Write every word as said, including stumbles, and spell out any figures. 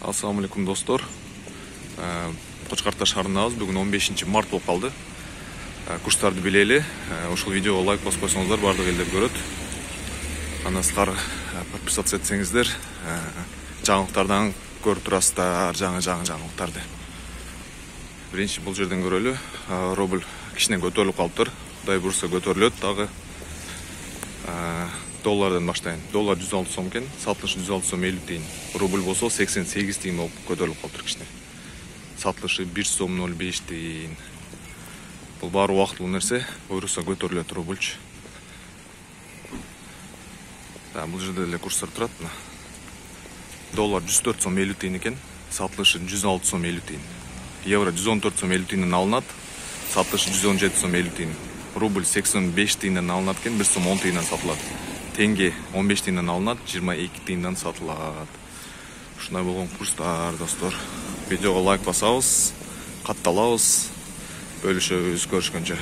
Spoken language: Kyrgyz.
Ассаламу алейкум достор. Кочкар Ата шаарындабыз. Бүгүн он бешинчи март болуп калды. Курстарды билели. Ушул видеого лайк басып койсоңуздар бардык элдер көрөт. Ана силер подписаться этсеңиздер, жаңылыктардан көрүп турасыздар, жаңы жаңы жаңылыктарды. Биринчи бул жерден көрөлү. Рубль кичине көтөрүлүп калыптыр. Кудай бурса көтөрүлөт дагы. Доллардан баштайын. Доллар жүз алты сом экен, сатылышы жүз алты сом элүү тыйын. Рубль болсо сексен сегиз тыйын болуп көтөрүлүп калыптыр кичине. Сатылышы бир сом ноль беш тыйын. Бул баары убактылуу нерсе, буйруса көтөрүлөт рубльчу. Да, бул жерде эле курстар турат. Доллар жүз төрт сом элүү тыйын экен, сатылышы жүз алты сом элүү тыйын. Евро жүз он төрт сом элүү тыйындан алынат, сатылышы жүз он жети сом элүү тыйын. Рубль сексен беш тыйындан алынат экен, бир сом он тыйындан сатылат. Тенге он беш тыйындан алынат, жыйырма эки тыйындан сатылат. Ушундай болгон курстар, достор. Видеого лайк басабыз, катталабыз, бөлүшөбүз, көрүшкөнчө.